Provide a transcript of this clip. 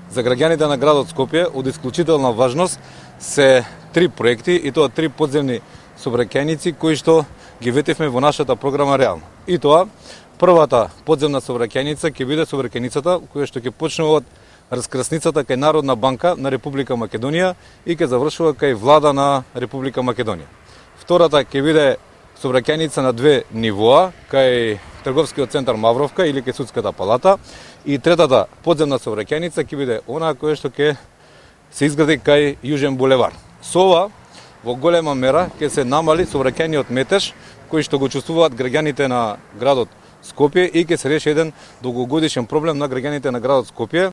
За граѓаните на градот Скопје од исклучителна важност се 3 проекти и тоа 3 подземни сообраќајници кои што ги ветивме во нашата програма реално. И тоа првата подземна сообраќајница ќе биде сообраќајницата која што ќе почне од раскрсницата кај Народна банка на Република Македонија и ќе завршува кај влада на Република Македонија. Втората ќе биде сообраќајница на 2 нивоа кај Трговскиот центар Мавровка или кај Судската палата и третата подземна сообраќајница ќе биде онаа која што ќе се изгради кај Јужен булевар. Со ова во голема мера ќе се намали сообраќајниот метеж кој што го чувствуваат граѓаните на градот Скопје и ќе се реши еден долгогодишен проблем на граѓаните на градот Скопје.